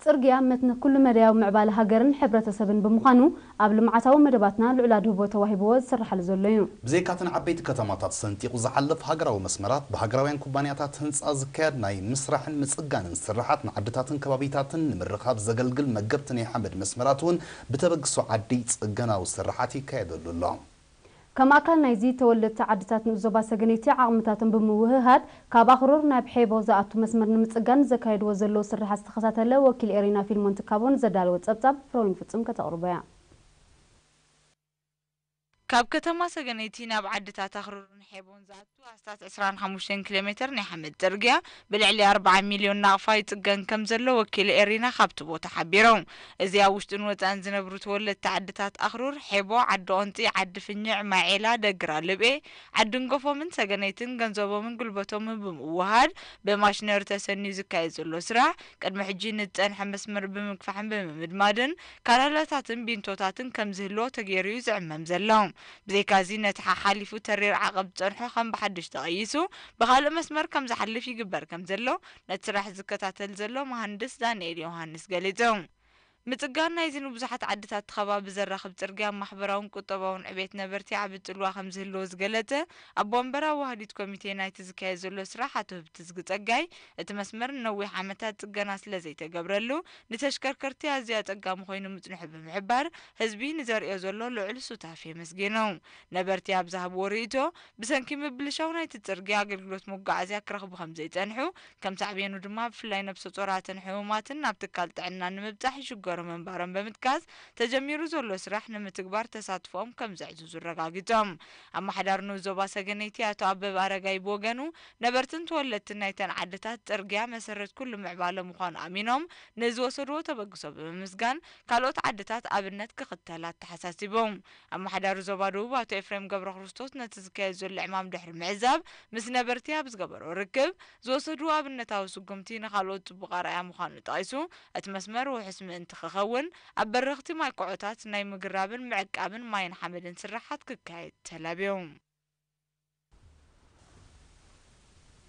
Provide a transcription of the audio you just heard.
ጽርግያ መትንኽ ኩሉ መዳያዊ ምዕባለ ሃገርን ሕብረተሰብን ብምዃኑ፣ ኣብ ልምዓታዊ መደባትና ልዑል ኣድህቦ ተዋሂብዎ ዝስርሓሉ ዘሎ እዩ። ብዘይካተን ዓበይቲ ከተማታት ሰንጢቑ ዝሓልፍ ሃገራዊ መስመራት፣ ብሃገራውያን ኩባንያታት ህንጻ ዝካየድ ናይ ምስራሕን ምጽጋንን ስርሓት፣ ንዓድታትን ከባቢታትን ንምርኻብ ዘገልግል መገብቲ ናይ ሓመድ መስመራት እውን ብተበግሶ ዓዲ ጽገናዊ ስርሓት ይካየደሉ ኣሎ። ከም ኣካል ናይዚ፣ ተወለድቲ ዓድታት ንኡስ ዞባ ሰገነይቲ ዓቕምታቶም ብምውህሃድ፣ ካብ ኣኽሩር ናብ ሔቦ ዝኣቱ መስመር ንምጽጋን ዘካየድዎ ዘለዉ ስርሓት ዝተኸታተለ ወኪል ኤሪና ፊልሞን ትካቦ ንዘዳለዎ ጸብጻብ ፍሮዊን ፍጹም ከተቕርቦ እያ። ካብ ከተማ ሰገነይቲ ናብ ዓድታት ኣኽሩርን ሔቦን ዝኣቱ ኣስታት ዕስራን ሓሙሽተን ኪሎ ሜተር ናይ ሓመድ ጽርግያ ብልዕሊ ኣርብዓ ሚልዮን ናቕፋ ይጽገን ከም ዘሎ ወኪል ኤሪና ካብቲ ቦታ ሓቢሮም። እዚ ኣብ ውሽጥን ወጻእን ዝነብሩ ተወለድቲ ዓድታት ኣኽሩር፣ ሔቦ፣ ዓዲ ኦንጺ፣ ዓዲ ፍኝዕ፣ ማይ ዔላ፣ ደግራ ልብኤ፣ ዓዲ እንጎፎምን ሰገነይትን ገንዘቦምን ጉልበቶምን ብምውህሃድ ብማሽነሪ ተሰንዩ ዝካየድ ዘሎ ስራሕ፣ ቅድሚ ሕጂ ንዝጸንሐ መስመር ብምግፋሕን ብምምድማድን ካራላታትን ቢንቶታትን ከም ዝህልዎ ተገይሩ እዩ ዝዕመም ዘሎ። ብዘይካዚ ነቲ ሓሓሊፉ ተሪር ዓቐብ ዝጸንሖ ከም ብሓድሽ ተቐይሱ ብኻልእ መስመር ከም ዝሓልፍ ይግበር ከም ዘሎ ነቲ ስራሕ ዝከታተል ዘሎ መሃንድስ ዳንኤል ዮሃንስ ገሊጹ። ምጽጋን ናይዚ ንብዙሓት ዓድታት እቲ ከባቢ ዘራኽብ ጽርግያ ማሕበራውን ቁጠባውን ዕቤት ነበርቲ ዓቢ ጽልዋ ከም ዝህልዎ ዝገለጸ ኣቦ ወንበር ኣዋህዲት ኮሚቴ ናይቲ ዝካየድ ዘሎ ስራሕ ኣቶ ህብትዝጊ ጸጋይ፣ እቲ መስመር ንነዊሕ ዓመታት ጽገና ስለ ዘይተገብረሉ ንተሽከርከርቲ ኣዝዩ ኣጸጋሚ ኮይኑ ምጽንሑ ብምሕባር፣ ህዝቢ ንዘርእዮ ዘሎ ልዑል ሱታፌ ኣመስጊኑ። ነበርቲ ኣብ ዝሃብዎ ርእይቶ፣ ብሰንኪ ምብልሻው ናይቲ ጽርግያ ኣገልግሎት መጓዓዝያ ክረኽቡ ከም ዘይጸንሑ፣ ከም ሳዕቤኑ ድማ ብፍላይ ነብሰ ጾራትን ሕሙማትን ናብ ትካል ጥዕና ንምብጻሕ ይሽገሩ ምንባሮም ብምጥቃስ፣ ተጀሚሩ ዘሎ ስራሕ ንምትግባር ተሳትፎኦም ከም ዘዕዝዙ ኣረጋጊጾም። ኣመሓዳሪ ንኡስ ዞባ ሰገነይቲ ኣቶ ኣበበ ኣረጋይ ብወገኑ፣ ነበርትን ተወለድትን ናይተን ዓድታት ጽርግያ መሰረት ኩሉ ምዕባለ ምዃኑ ኣሚኖም፣ ንዝወሰድዎ ተበግሶ ብምምስጋን፣ ካልኦት ዓድታት ኣብነት ክኽተላ ኣተሓሳሲቦም። ኣመሓዳሪ ዞባ ደቡብ ኣቶ ኤፍሬም ገብረክርስቶስ ነቲ ዝካየድ ዘሎ ዕማም ድሕሪ ምዕዛብ፣ ምስ ነበርቲ ኣብ ዝገበሮ ርክብ፣ ዝወሰድዎ ኣብነታዊ ስጉምቲ ንኻልኦት ጽቡቕ ኣርኣያ ምዃኑ ጠቒሱ፣ እቲ መስመር ውሑስ ምእንቲ ክኸውን፣ ኣብ በረኽቲ ማይ ኮዖታት ናይ ምግራብን ምዕቃብን ማይን ሓመድን ስርሓት ክካየድ ተላብዮም።